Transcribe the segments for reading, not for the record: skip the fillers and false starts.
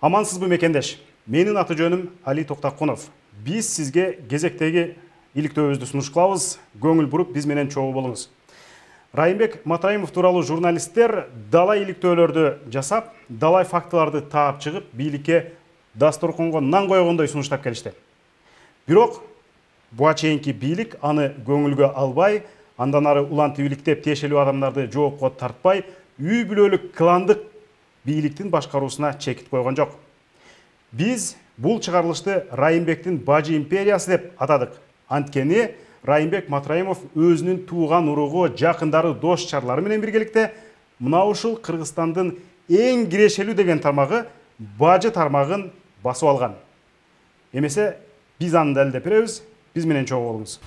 Амансызбы мекендеш? Менин аты жөнүм Али Токтакунов. Биз сизге кезектеги иликтөөбүздү сунуш кылабыз. Көңүл буруп биз менен чогуу болуңуз. Райымбек Матраимов тууралуу журналисттер далай иликтөөлөрдү жасап, далай фактыларды таап чыгып, бийликке дасторконго нан койгондой сунуштап келишти. Бирок буга чейинки бийлик аны көңүлгө албай, андан ары улантып иликтеп тиешелүү адамдарды жоопко тартпай, үй бүлөлүк кландык бийликтин башкаруусуна чекит койгон жок. Биз бул чыгарылышты Райымбектин Бажы империясы деп атадык. Анткени Райымбек Матраимов өзүнүн тууган уругу, жакындары, дос чарлары менен биргеликте мына ушул Кыргызстандын эң кирешелүү деген тармагы Бажы тармагын басып алган. Эмесе биз аны далилдеп беребиз. Биз менен чогуу болуңуз.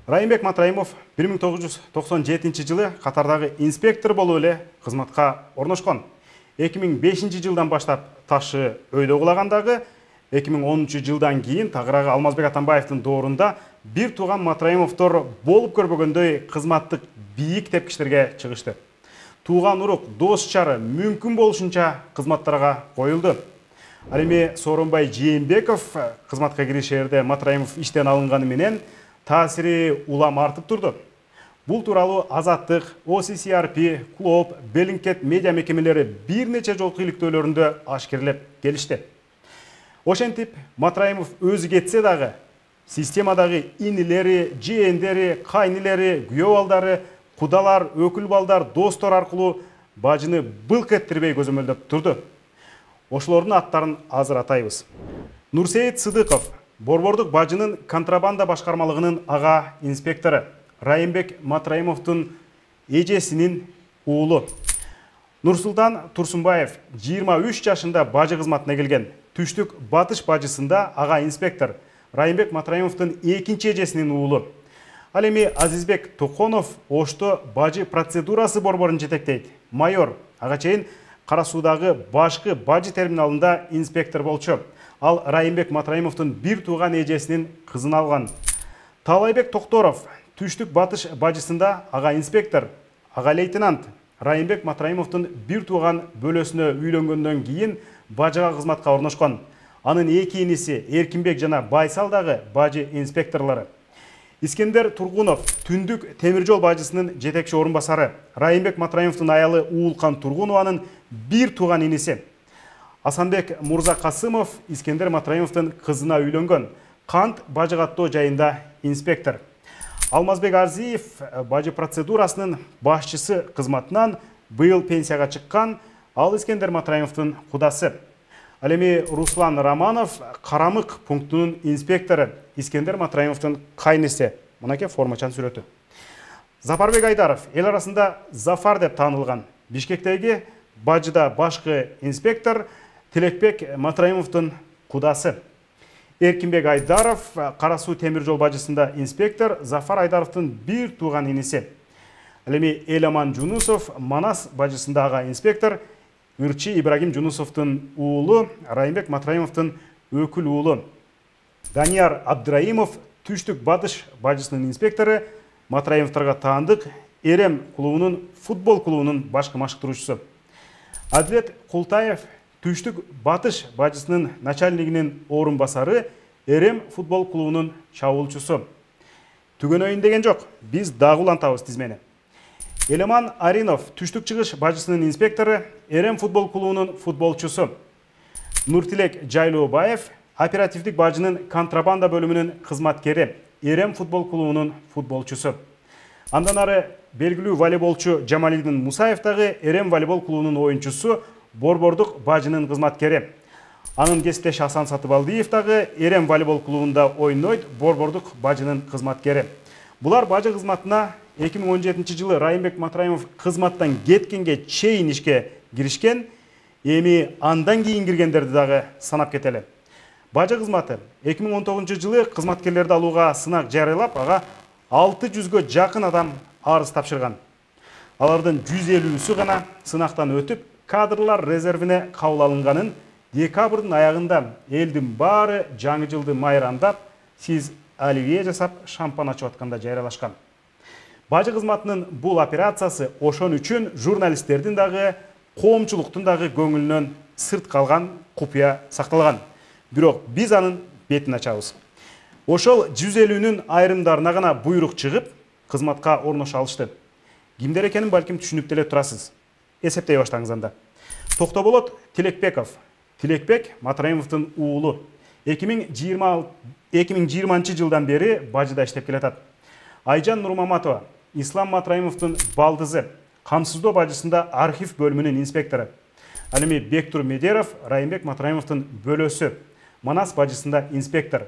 Райымбек Матраимов 1997 жылы Катардагы инспектор болуп эле кызматка орношкон. 2005 жылдан баштап ташы өйдө кулагандагы 2010 жылдан кийин тагыраагы Алмазбек Атамбаевдин доорунда бир тууган Матраимовдор болуп көрбөгөндөй кызматтык бийик тепкичтерге чыгышты. Тууган урук, дос чары мүмкүн болушунча кызматтарга коюлду. Ал эми Сооронбай Жээнбеков кызматка киришерде Матраимов иштен алынганы менен таасири улам артып турду. Бул тууралуу Азаттык, OCCRP, Клоп, Беллингкет медиа мекемелери бир нече жолку иликтөөлөрүндө ашкерлеп келишти. Ошентип, Матраимов өзү кетсе дагы, системадагы инилери, жээндери, кайнилери, күйөө балдары, кудалар, өкүл балдар, достор аркылуу Бажыны былк эттирбей көзөмөлдөп турду. Ошолордун аттарын азыр атайбыз. Нурсейит Сыдыков, Борбордук Бажынын контрабанда башкармалыгынын ага инспектору, Райымбек Матраимовдун эжесинин уулу. Нурсултан Турсунбаев 23 жашында бажы кызматына келген. Түштүк Батыш бажысында ага инспектор, Райымбек Матраимовдун экинчи эжесинин уулу. Ал эми Азизбек Токонов Ошто бажы процедурасы борборун жетектейт. Майор, ага чейин Кара Суудагы башкы бажы терминалында инспектор болчу. Ал Райымбек Матраимовдун бир тууган эжесинин кызын алган. Талайбек Токторов Түштүк Батыш бажысында ага инспектор, ага лейтенант. Райымбек Матраимовдун бир тууган бөлөсүнө үйлөнгөндөн кийин бажыга кызматка орношкон. Анын эки иниси Эркинбек жана Байсал дагы бажы инспекторлору. Искендер Тургунов Түндүк темир жол бажысынын жетекчи орун басары. Райымбек Матраимовдун аялы Уулкан Тургунованын бир тууган иниси. Асанбек Мурзакасымов Искендер Матраимовдун кызына үйлөнгөн. Кант бажы каттоо жайында инспектор. Алмазбек Арзиев бажы процедурасынын башчысы кызматынан быйыл пенсияга чыккан. Ал Искендер Матраимовдун кудасы. Ал эми Руслан Романов Карамык пунктунун инспектору, Искендер Матраимовдун кайнысы. Мынакей формачан сүрөтү. Запарбек Айдаров эл арасында Зафар деп таанылган. Бишкектеги бажыда башкы инспектор, Тилекбек Матраимовдун кудасы. Эркинбек Айдаров Кара Суу темир жол бажысында инспектор, Зафар Айдаровдун бир тууган иниси. Ал эми Эламан Жунусов Манас бажысында ага инспектор, Ырчы Ибрагим Жунусовдун уулу, Райымбек Матраимовдун өкүл уулу. Данияр Абдраимов Түштүк Батыш бажысынын инспектору, Матраимовдорго таандык Эрем клубунун футбол клубунун башкы машыктыруучусу. Адилет Култаев Түштүк Батыш бажысынын начальнигинин орун басары, Эрем футбол клубунун чабуулчусу. Түгөнөйүн деген жок, биз дагы улантабыз тизмени. Элеман Аринов Түштүк чыгыш бажысынын инспектору, Эрем футбол клубунун футболчусу. Нуртилек Жайлообаев оперативдик бажынын контрабанда бөлүмүнүн кызматкери, Эрем футбол клубунун футболчусу. Андан ары белгилүү волейболчу Жамалидин Мусаев дагы Эрем волейбол клубунун оюнчусу, Борбордук Бажынын кызматкери. Анын кесиптеш Асан Сатыбалдиев дагы Эрем волейбол клубунда ойнойт, Борбордук Бажынын кызматкери. Булар бажы кызматына 2017 жылы Райымбек Матраимов кызматтан кеткенге чейин ишке киришкен, эми андан кийин киргендерди дагы санап кетели. Бажы кызматы 2019 жылы кызматкерлерди алууга сынак жарыялап, ага 600гө жакын адам арыз тапшырган. Алардын 150сү гана сынактан өтүп, кадрлар резервине кабыл алынганын декабрдын аягында элдин баары жаңы жылды майрамдап, сиз оливье жасап, шампан ачып атканда жарыялашкан. Бажы кызматынын бул операциясы ошон үчүн журналисттердин дагы, коомчулуктун дагы көңүлүнөн сырт калган купуя сакталган. Бирок биз анын бетин ачабыз. Ошол 150-нүн айрымдарына гана буйрук чыгып, кызматка орношо алышты. Кимдер экенин балким түшүнүп деле турасыз. Эсептей баштаңыз анда. Токтоболот Тилекбеков. Тилекбек Матраимовдун уулу. 2020 жылдан бери бажыда иштеп келатат. Айжан Нурмаматова Ислам Матраимовдун балдызы, Камсыздоо бажысында архив бөлүмүнүн инспектору. Ал эми Бектур Медеров Райымбек Матраимовдун бөлөсү, Манас бажысында инспектор.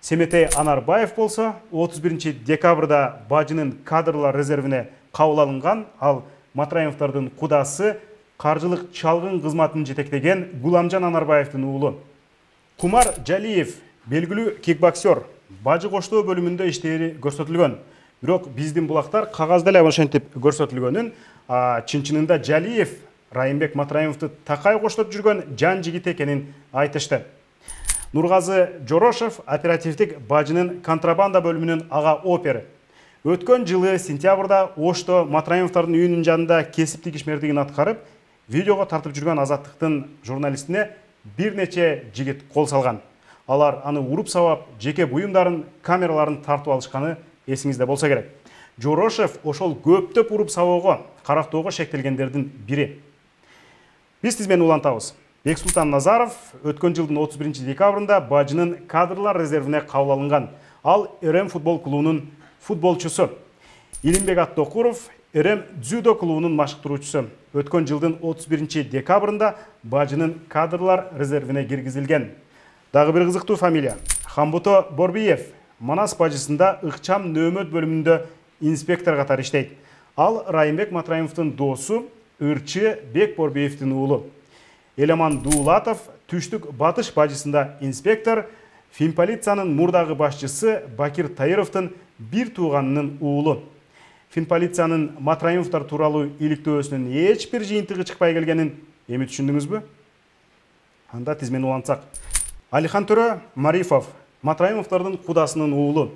Семетей Анарбаев болсо 31 декабрда бажынын кадрлар резервине кабыл алынган, ал Матраимовдордун кудасы каржылык чалгын кызматын жетектеген Гуламжан Анарбаевдин уулу. Кумар Жалиев белгилүү кикбоксер, бажы коштоо бөлүмүндө иштери көрсөтүлгөн. Бирок биздин булактар кагазда эле ошентип көрсөтүлгөнүн, чын-чынында Жалиев Райымбек Матраимовду такай коштоп жүргөн жан жигит экенин айтышты. Нургазы Жорошев оперативдик бажынын контрабанда бөлүмүнүн ага опери. Өткөн жылы сентябрда Ошто Матраимовдордун үйүнүн жанында кесиптик ишмердигин аткарып, видеого тартып жүргөн Азаттыктын журналистине бир нече жигит кол салган. Алар аны уруп сабап, жеке буюмдарын, камераларын тартып алышканы эсиңизде болсо керек. Жорошев ошол көптөп уруп сабоого, карактоого шектелгендердин бири. Биз тизмени улантабыз. Бексултан Назаров өткөн жылдын 31 декабрында бажынын кадрлар резервине кабыл алынган. Ал РМ футбол клубунун футболчусу. Илимбек Аттокуров РМ дзюдо клубунун машыктыруучусу. Өткөн жылдын 31 декабрында бажынын кадрлар резервине киргизилген. Дагы бир кызыктуу фамилия. Хамбуто Борбиев Манас бажысында ыкчам нөөмөт бөлүмүндө инспектор катары иштейт. Ал Райымбек Матраимовдун доосу, ырчы Бек Борбиевдин уулу. Элеман Дуулатов Түштүк Батыш бажысында инспектор, Финполициянын мурдагы башчысы Бакир Таировдун бир тууганынын уулу. Финполициянын Матраимовдор тууралуу иликтөөсүнүн эч бир жыйынтыгы чыкпай келгенин эми түшүндүңүзбү? Анда тизмени улантсак. Алихан Төрө Марифов Матраимовдордун кудасынын уулу.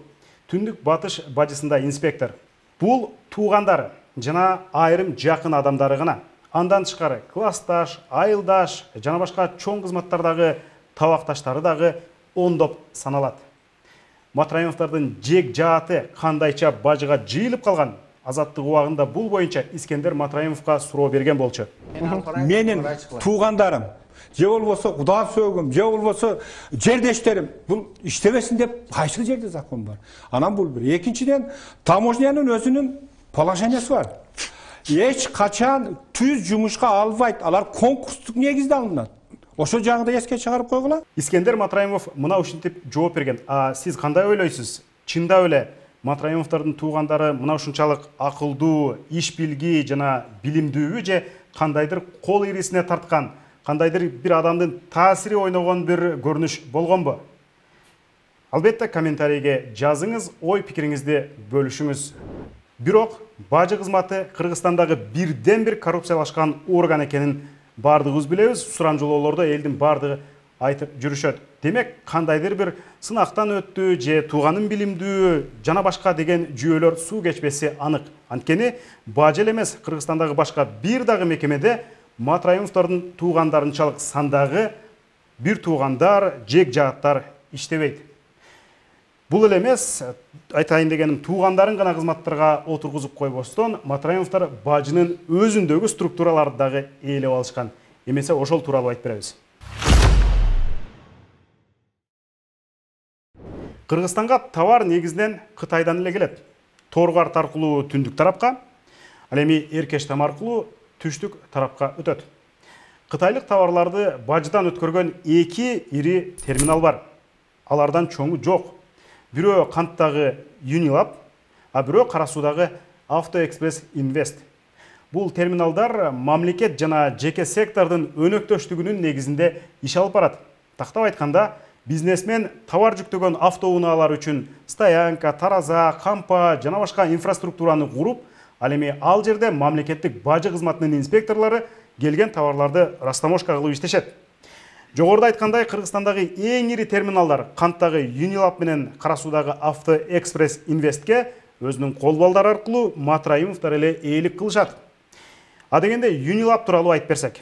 Түндүк Батыш бажысында инспектор. Бул туугандары жана айрым жакын адамдары гана. Андан тышкары классташ, айылдаш жана башка чоң кызматтардагы табакташтары дагы ондоп саналат. Матраимовдордун жек жааты кандайча бажыга жыйылып калган? Азаттык убагында бул боюнча Искендер Матраимовго суроо берген болчу. Менин туугандарым, же болбосо куда сөөгүм, же болбосо жердештерим бул иштебесин деп кайсы жерде закон бар. Анан бул бир. Экинчиден, таможнянын өзүнүн положениясы бар. Эч качан түз жумушка албайт. Алар конкурстук негизде алынат. Ошо жагында эске чыгарып койгула. Искендер Матраимов мына ушинтип жооп берген. Сиз кандай ойлойсуз? Чындап эле Матраимовдордун туугандары мына ушунчалык акылдуу, иш билги жана билимдүүбү же кандайдыр кол ирисине тарткан, кандайдыр бир адамдын таасири ойногон бир көрүнүш болгонбу? Албетте комментарийге жазыңыз, ой пикириңизди бөлүшүңүз. Бирок бажы кызматы Кыргызстандагы бирден бир коррупциялашкан орган экенин бардыгыбыз билебиз. Сурамжылоолордо элдин бардыгы айтып жүрүшөт. Демек, кандайдыр бир сынактан өттү же тууганын билимдүү жана башка деген жүйөлөр суу кечпеси анык. Анткени бажы эле эмес, Кыргызстандагы башка бир дагы мекемеде Матраимовдордун туугандарынчалык сандагы бир туугандар, жек жааттар иштебейт. Бул эле эмес, айтайын дегеним, туугандарын гана кызматтарга отургузуп койбостон, Матраимовдор бажынын өзүндөгү структураларды дагы ээлеп алышкан. Эмесе ошол тууралуу айтып беребиз. Кыргызстанга товар негизинен Кытайдан эле келет. Торгар аркылуу түндүк тарапка, ал эми Эркештам аркылуу түштүк тарапка өтөт. Кытайлык товарларды бажыдан өткөргөн 2 ири терминал бар. Алардан чоңу жок. Бирөө канттагы Unilab, а бирөө Кара Суудагы Автоэкспресс Инвест. Бул терминалдар мамлекет жана жеке сектордун өнөктөштүгүнүн негизинде иш алып барат. Тактап айтканда, бизнесмен товар жүктөгөн автоунаалар үчүн стоянка, тараза, кампа жана башка инфраструктураны куруп, ал эми ал жерде мамлекеттик бажы кызматынын инспекторлору келген товарларды растаможка кылып иштешет. Жогоруда айткандай, Кыргызстандагы эң ири терминалдар канттагы Unilab менен Кара Суудагы Автоэкспресс Инвестке өзүнүн кол балдары аркылуу Матраимовдор эле ээлик кылышат. А дегенде Юнилаб тууралуу айтып берсек.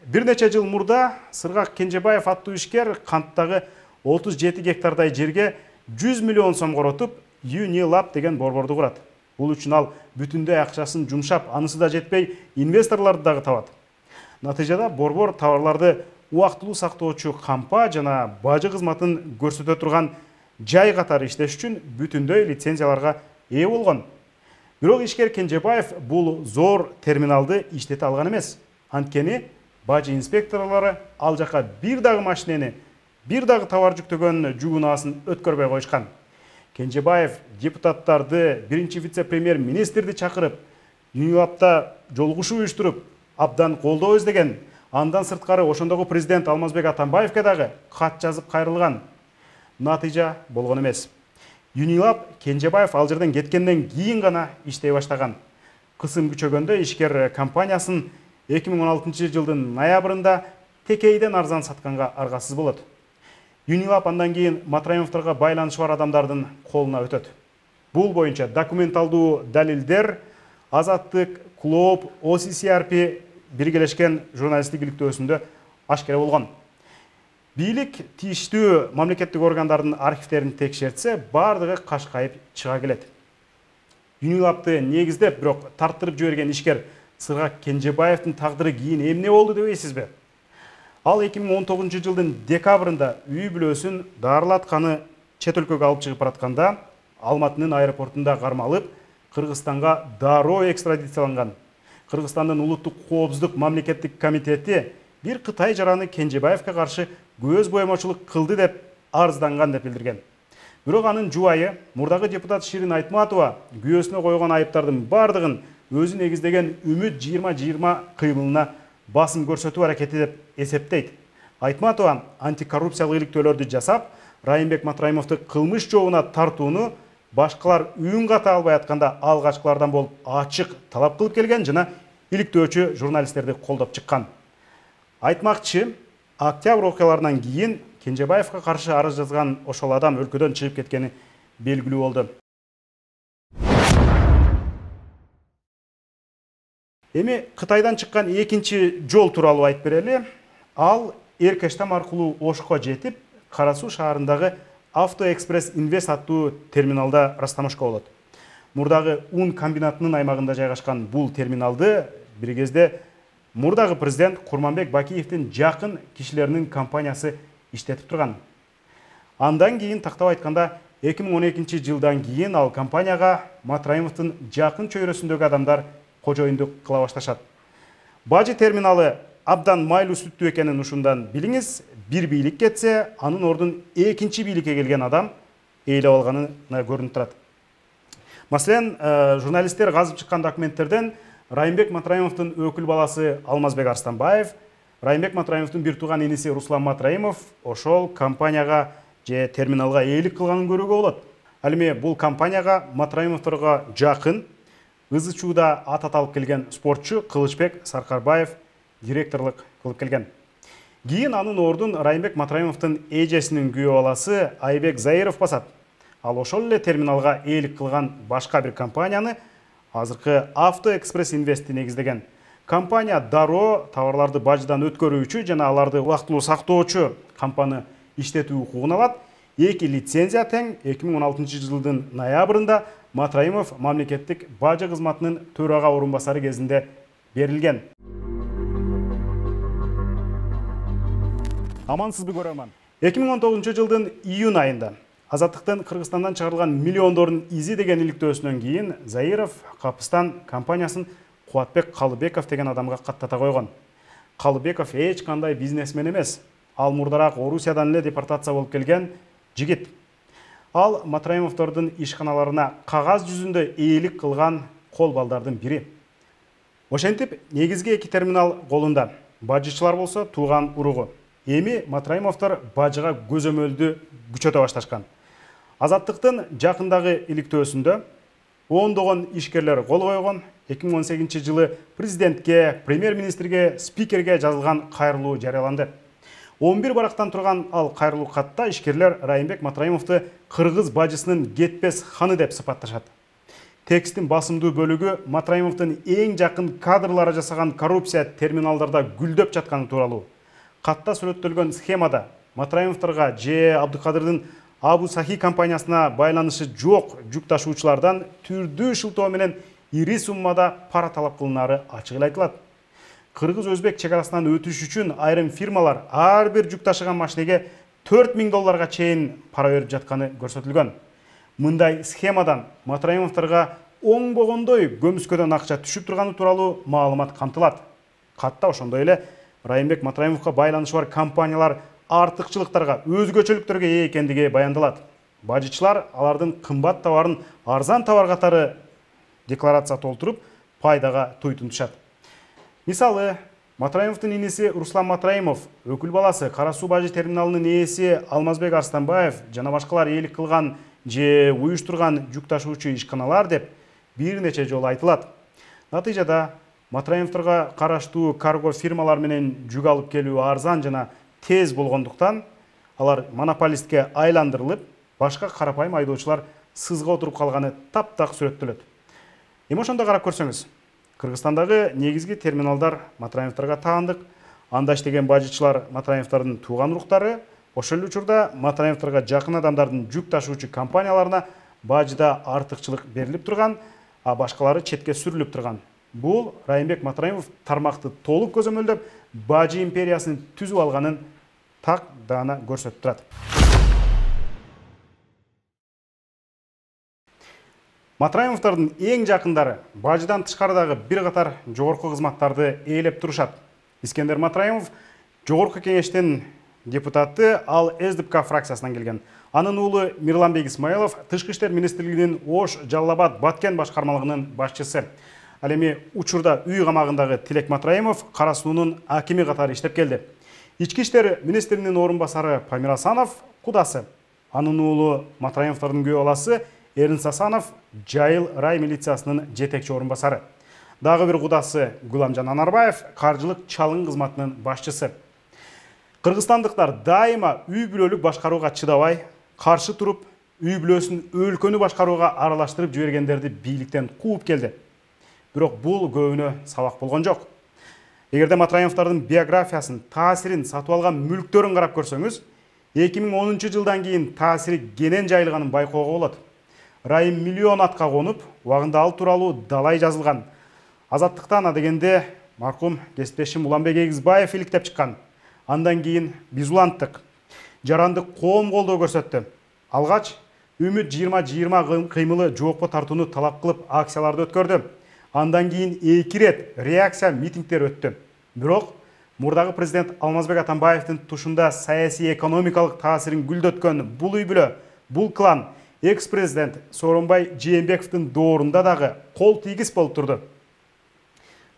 Бир нече жыл мурда Сыргак Кенжебаев аттуу ишкер канттагы 37 гектардай жерге 100 миллион сом коротуп, Юнилаб деген борборду курат. Бул үчүн ал бүтүндөй акчасын жумшап, анысы да жетпей, инвесторлорду дагы табат. Натыйжада борбор товарларды убактылуу сактоочу кампа жана бажы кызматын көрсөтө турган жай катары иштеш үчүн бүтүндөй лицензияларга ээ болгон. Бирок ишкер Кенжебаев бул зор терминалды иштете алган эмес. Анткени бажы инспекторлору ал жака бир дагы машинени, бир дагы товар жүктөгөн жүк унаасын өткөрбөй коюшкан. Кенжебаев депутаттарды, биринчи вице-премьер-министрди чакырып, Юнилабда жолугушуу уюштуруп, абдан колдоо издеген. Андан сырткары ошондогу президент Алмазбек Атамбаевке дагы кат жазып кайрылган. Натыйжа болгон эмес. Юнилаб Кенжебаев ал жерден кеткенден кийин гана иштей баштаган. Кысым күчөгөндө ишкер компаниясын 2016 жылдын ноябрында текейден арзан сатканга аргасыз болот. Юнилаб андан кийин Матраимовдорго байланышы бар адамдардын колуна өтөт. Бул боюнча документалдуу далилдер Азаттык, Клоп, OCCRP биргелешкен журналисттик иликтөөсүндө ашкера болгон. Бийлик тийиштүү мамлекеттик органдардын архивтерин текшертсе, бардыгы кашкайып чыга келет. Юнилабды негиздеп, бирок тарттырып жиберген ишкер Сыргак Кенжебаевдин тагдыры кийин эмне болду дебейсизби? Ал 2019 жылдын декабрында үй бүлөсүн дарылатканы чет өлкөгө алып чыгып баратканда Алматынын аэропортунда кармалып, Кыргызстанга дароо экстрадицияланган. Кыргызстандын улуттук коопсуздук мамлекеттик комитети бир Кытай жараны Кенжебаевке каршы көз боемочулук кылды деп арызданган деп билдирген. Бирок анын жубайы, мурдагы депутат Ширин Айтматова күйөөсүнө койгон айыптардын бардыгын өзү негиздеген Үмүт 2020 кыймылына басым көрсөтүү аракети деп эсептейт. Айтматова антикоррупциялык иликтөөлөрдү жасап, Райымбек Матраимовду кылмыш жообуна тартууну башкалар үйүн ката албай атканда алгачкылардан болуп ачык талап кылып келген жана иликтөөчү журналисттерди колдоп чыккан. Айтмакчы, октябрь окуяларынан кийин Кенжебаевга каршы арыз жазган ошол адам өлкөдөн чыгып кеткени белгилүү болду. Эми Кытайдан чыккан экинчи жол тууралуу айтып берели. Ал Эркештам аркылуу Ошко жетип, Кара Суу шаарындагы Автоэкспресс Инвест аттуу терминалда растамашка болот. Мурдагы ун комбинатынын аймагында жайгашкан бул терминалды бир кезде мурдагы президент Курманбек Бакиевдин жакын кишилеринин компаниясы иштетип турган. Андан кийин тактап айтканда 2012 жылдан кийин ал компанияга Матраимовдун жакын чөйрөсүндөгү адамдар кожоюндук кыла башташат. Бажы терминалы абдан майлуу сүттүү экенин ушундан билиңиз. Бир бийлик кетсе, анын ордун экинчи бийликке келген адам ээлеп алганына көрүнүп турат. Маселен, журналисттер казып чыккан документтерден Райымбек Матраимовдун өкүл баласы Алмазбек Арстанбаев, Райымбек Матраимовдун бир тууган иниси Руслан Матраимов ошол компанияга же терминалга ээлик кылганын көрүүгө болот. Ал эми бул компанияга Матраимовдорго жакын ызы-чууда ат аталып келген спортчу Кылычбек Саркарбаев директорлук кылып келген. Кийин анын ордун Райымбек Матраимовдун эжесинин күйөө баласы Айбек Заиров басат. Ал ошол эле терминалга ээлик кылган башка бир компанияны азыркы Автоэкспресс Инвестти негиздеген. Компания дароо товарларды бажыдан өткөрүүчү жана аларды убактылуу сактоочу компаны иштетүү укугун алат. Эки лицензия тең 2016 жылдын ноябрында Матраимов мамлекеттик бажы кызматынын төрага орун басары кезинде берилген. Амансызбы көрөрман. 2019 жылдын июнь айында Азаттыктын Кыргызстандан чыгарылган миллиондордун изи деген иликтөөсүнөн кийин Заиров Капыстан компаниясын Кубатбек Калыбеков деген адамга каттата койгон. Калыбеков эч кандай бизнесмен эмес. Ал мурдараак Орусиядан эле депортация болуп келген жигит. Ал Матраимовдордун ишканаларына кагаз жүзүндө ээлик кылган кол балдардын бири. Ошентип, негизги эки терминал колунда. Бажычылар болсо тууган уругу. Эми Матраимовдор бажыга көзөмөлдү күчөтө башташкан. Азаттыктын жакындагы иликтөөсүндө ондогон ишкерлер кол койгон. 2018 жылы президентке, премьер-министрге, спикерге жазылган кайрылуу жарыяланды. 11 барактан турган ал кайрылуу катта ишкерлер Райымбек Матраимовду кыргыз бажысынын кетпес ханы деп сыпатташат. Текстин басымдуу бөлүгү Матраимовдун эң жакын кадрлары жасаган коррупция терминалдарда гүлдөп жатканы тууралуу. Катта сүрөттөлгөн схемада Матраимовдорго же Абдыкадырдын Абу Сахи компаниясына байланышы жок жүк ташуучулардан түрдүү шылтоо менен ири суммада пара талап кылынары ачык эле айтылат. Кыргыз-өзбек чегарасынан өтүш үчүн айрым фирмалар ар бир жүк ташыган машинеге $4000 чейин пара берип жатканы көрсөтүлгөн. Мындай схемадан Матраимовдорго оңбогондой көмүскөдөн акча түшүп турганы тууралуу маалымат камтылат. Катта ошондой эле Райымбек Матраимовго байланышы бар компаниялар артыкчылыктарга, өзгөчөлүктөргө ээ экендиги баяндалат. Бажычылар алардын кымбат товарын арзан товар катары декларация толтуруп, пайдага туйтунтушат. Мисалы, Матраимовдун иниси Руслан Матраимов, өкүл баласы Кара суу бажы терминалынын ээси Алмазбек Арстанбаев жана башкалар ээлик кылган же уюштурган жүк ташуучу ишканалар деп бир нече жолу айтылат. Натыйжада Матраимовдорго караштуу карго фирмалар менен жүк алып келүү арзан жана тез болгондуктан алар монополистке айландырылып, башка карапайым айдоочулар сызга отуруп калганы таптак сүрөттөлөт. Эми ошондо карап көрсөңүз, Кыргызстандагы негизги терминалдар Матраимовдорго таандык. Анда иштеген бажычылар Матраимовдордун тууган уруктары, ошол учурда Матраимовдорго жакын адамдардын жүк ташуучу компанияларына бажыда артыкчылык берилип турган, а башкалары четке сүрүлүп турган. Бул Райымбек Матраимов тармакты толук көзөмөлдөп, бажы империясын түзүп алганын так даана көрсөтүп турат. Матраимовдордун эң жакындары бажыдан тышкарыдагы бир катар жогорку кызматтарды ээлеп турушат. Искендер Матраимов жогорку кеңештин депутаты, ал СДПК фракциясынан келген. Анын уулу Мирланбек Исмаилов Тышкы иштер министрлигинин Ош, Жалал-Абад, Баткен башкармалыгынын башчысы. Ал эми учурда үй камагындагы Тилек Матраимов Кара суунун акими катары иштеп келди. Ички иштер министринин орун басары Памир Асанов кудасы. Анын уулу Матраимовдордун күйөө баласы Эрин Сасанов Жайыл рай милициясынын жетекчи орун басары. Дагы бир кудасы Гуламжан Анарбаев каржылык чалың кызматынын башчысы. Кыргызстандыктар дайыма үй бүлөлүк башкарууга чыдабай, каршы туруп, үй бүлөсүн өлкөнү башкарууга аралаштырып жибергендерди бийликтен кууп келди. Бирок бул көбүнө сабак болгон жок. Эгерде Матраимовдордун биографиясын, таасирин, сатып алган мүлктөрүн карап көрсөңүз, 2010 жылдан кийин таасири кенен жайылганын байкоого болот. Райым миллион атка конуп, убагында ал тууралуу далай жазылган. Азаттыктан адегенде маркум кесиптешим Уланбек Эгизбаев иликтеп чыккан. Андан кийин биз уланттык. Жарандык коом колдоо көрсөттү. Алгач Үмүт 2020 кыймылы жоокко тартууну талап кылып акцияларды өткөрдү. Андан кийин 2 рет реакция митингдер өттү. Бирок мурдагы президент Алмазбек Атамбаевдин тушунда саясий экономикалык таасирин гүлдөткөн бул үй бүлө, бул клан экс-президент Сооронбай Жээнбековдун доорунда дагы кол тийгиз болуп турду.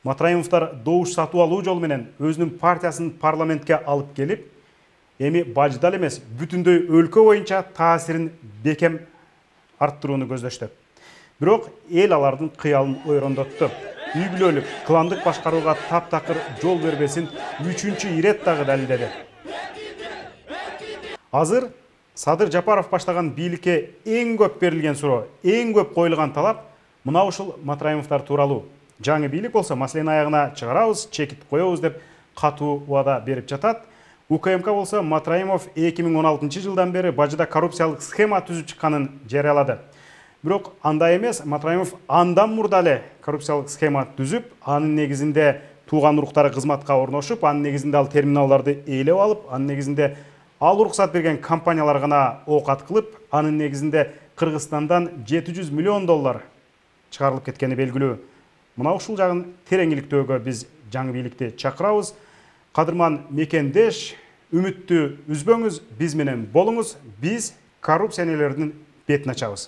Матраимовдор добуш сатып алуу жолу менен өзүнүн партиясын парламентке алып келип, эми бажыда эмес, бүтүндөй өлкө боюнча таасирин бекем арттырууну көздөштү. Бирок эл алардын кыялын ойрондотту. Үй бүлөлүк, кландык башкарууга таптакыр жол бербесин 3-чү ирет дагы далилдеди. Азыр Садыр Жапаров баштаган бийликке эң көп берилген суроо, эң көп коюлган талап мына ушул Матраимовдор тууралуу. Жаңы бийлик болсо маселени аягына чыгарабыз, чекит коебуз деп катуу убада берип жатат. УКМК болсо Матраимов 2016 жылдан бери бажыда коррупциялык схема түзүп чыкканын жарыялады. Бирок андай эмес, Матраимов андан мурда эле коррупциялык схема түзүп, анын негизинде тууган уруктары кызматка орношуп, анын негизинде ал терминалдарды ээлеп алып, анын негизинде ал уруксат берген компаниялар гана оокат кылып, анын негизинде Кыргызстандан $700 миллион чыгарылып кеткени белгилүү. Мына ушул жагын тереңиликтөөгө биз жаңы бийликти чакырабыз. Кадырман мекендеш, үмүттү үзбөңүз, биз менен болуңуз, биз коррупционерлердин бетин ачабыз.